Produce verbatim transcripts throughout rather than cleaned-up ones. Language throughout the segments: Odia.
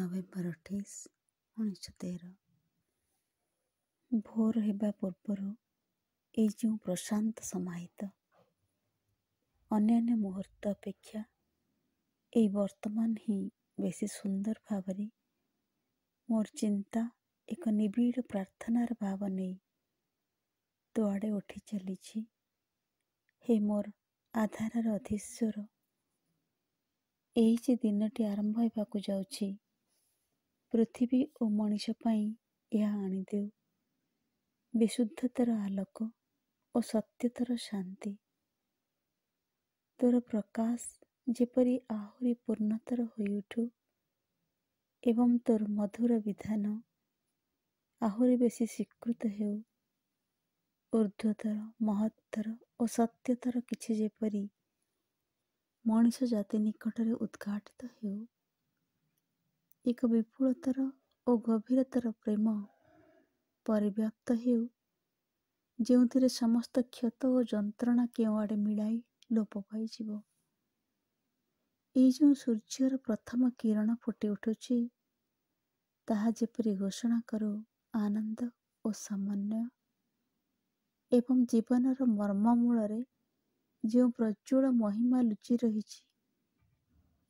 ନଭେମ୍ବର ଅଠେଇଶ ଉଣେଇଶହ ତେର। ଭୋର ହେବା ପୂର୍ବରୁ ଏଇ ଯେଉଁ ପ୍ରଶାନ୍ତ ସମାହିତ ଅନ୍ୟାନ୍ୟ ମୁହୂର୍ତ୍ତ ଅପେକ୍ଷା ଏଇ ବର୍ତ୍ତମାନ ହିଁ ବେଶୀ ସୁନ୍ଦର ଭାବରେ ମୋର ଚିନ୍ତା ଏକ ନିବିଡ଼ ପ୍ରାର୍ଥନାର ଭାବ ନେଇ ତୋ ଆଡ଼େ ଉଠି ଚାଲିଛି। ହେ ମୋର ଆଧାରର ଅଧୀଶ୍ୱର, ଏହି ଯେ ଦିନଟି ଆରମ୍ଭ ହେବାକୁ ଯାଉଛି, ପୃଥିବୀ ଓ ମଣିଷ ପାଇଁ ଏହା ଆଣିଦେଉ ବିଶୁଦ୍ଧତାର ଆଲୋକ ଓ ସତ୍ୟତାର ଶାନ୍ତି। ତୋର ପ୍ରକାଶ ଯେପରି ଆହୁରି ପୂର୍ଣ୍ଣତର ହୋଇଉଠୁ ଏବଂ ତୋର ମଧୁର ବିଧାନ ଆହୁରି ବେଶୀ ସ୍ୱୀକୃତ ହେଉ। ଊର୍ଦ୍ଧ୍ୱତର, ମହତ୍ତର ଓ ସତ୍ୟତର କିଛି ଯେପରି ମଣିଷ ଜାତି ନିକଟରେ ଉଦ୍ଘାଟିତ ହେଉ। ଏକ ବିପୁଳତର ଓ ଗଭୀରତର ପ୍ରେମ ପରିବ୍ୟାପ୍ତ ହେଉ, ଯେଉଁଥିରେ ସମସ୍ତ କ୍ଷତ ଓ ଯନ୍ତ୍ରଣା କେଉଁଆଡ଼େ ମିଳାଇ ଲୋପ ପାଇଯିବ। ଏଇ ଯେଉଁ ସୂର୍ଯ୍ୟର ପ୍ରଥମ କିରଣ ଫୁଟି ଉଠୁଛି, ତାହା ଯେପରି ଘୋଷଣା କରୁ ଆନନ୍ଦ ଓ ସମନ୍ୱୟ ଏବଂ ଜୀବନର ମର୍ମ ମୂଳରେ ଯେଉଁ ପ୍ରଜ୍ୱଳ ମହିମା ଲୁଚି ରହିଛି,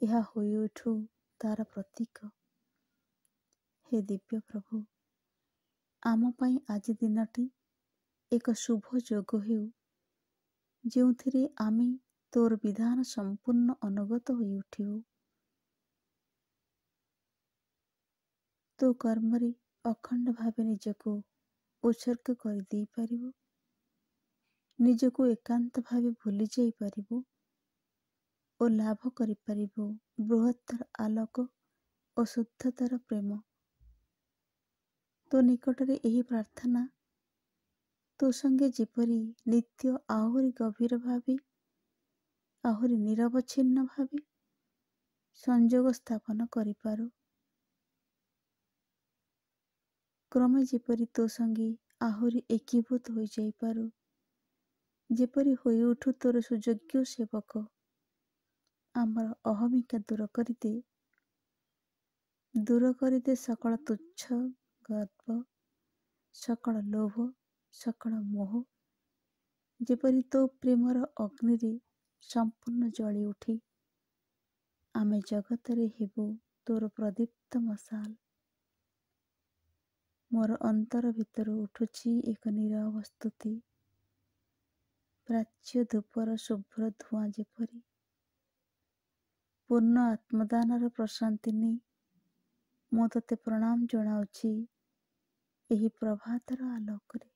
ଏହା ହୋଇଉଠୁ ତାର ପ୍ରତୀକ। ହେ ଦିବ୍ୟ ପ୍ରଭୁ, ଆମ ପାଇଁ ଆଜି ଦିନଟି ଏକ ଶୁଭ ଯୋଗ ହେଉ, ଯେଉଁଥିରେ ଆମେ ତୋର ବିଧାନ ସମ୍ପୂର୍ଣ୍ଣ ଅନୁଗତ ହୋଇଉଠିବୁ। ତୋ କର୍ମରେ ଅଖଣ୍ଡ ଭାବେ ନିଜକୁ ଉତ୍ସର୍ଗ କରିଦେଇପାରିବୁ, ନିଜକୁ ଏକାନ୍ତ ଭାବେ ଭୁଲି ଯାଇପାରିବୁ ଓ ଲାଭ କରିପାରିବୁ ବୃହତ୍ତର ଆଲୋକ ଓ ଶୁଦ୍ଧତର ପ୍ରେମ। ତୋ ନିକଟରେ ଏହି ପ୍ରାର୍ଥନା ତୋ ସଙ୍ଗେ ଯେପରି ନିତ୍ୟ ଆହୁରି ଗଭୀର ଭାବେ, ଆହୁରି ନିରବଚ୍ଛିନ୍ନ ଭାବେ ସଂଯୋଗ ସ୍ଥାପନ କରିପାରୁ। କ୍ରମେ ଯେପରି ତୋ ସଙ୍ଗେ ଆହୁରି ଏକୀଭୂତ ହୋଇଯାଇପାରୁ, ଯେପରି ହୋଇଉଠୁ ତୋର ସୁଯୋଗ୍ୟ ସେବକ। ଆମର ଅହମିକା ଦୂର କରିଦେ, ଦୂର କରିଦେ ସକଳ ତୁଚ୍ଛ ଗର୍ବ, ସକଳ ଲୋଭ, ସକଳ ମୋହ, ଯେପରି ତୋ ପ୍ରେମର ଅଗ୍ନିରେ ସମ୍ପୂର୍ଣ୍ଣ ଜଳି ଉଠି ଆମେ ଜଗତରେ ହେବୁ ତୋର ପ୍ରଦୀପ୍ତ ମଶାଲ। ମୋର ଅନ୍ତର ଭିତରୁ ଉଠୁଛି ଏକ ନୀରବ ସ୍ତୁତି, ପ୍ରାଚ୍ୟ ଧୂପର ଶୁଭ୍ର ଧୂଆଁ ଯେପରି। ପୂର୍ଣ୍ଣ ଆତ୍ମଦାନର ପ୍ରଶାନ୍ତି ନେଇ ମୁଁ ତୋତେ ପ୍ରଣାମ ଜଣାଉଛି ଏହି ପ୍ରଭାତର ଆଲୋକରେ।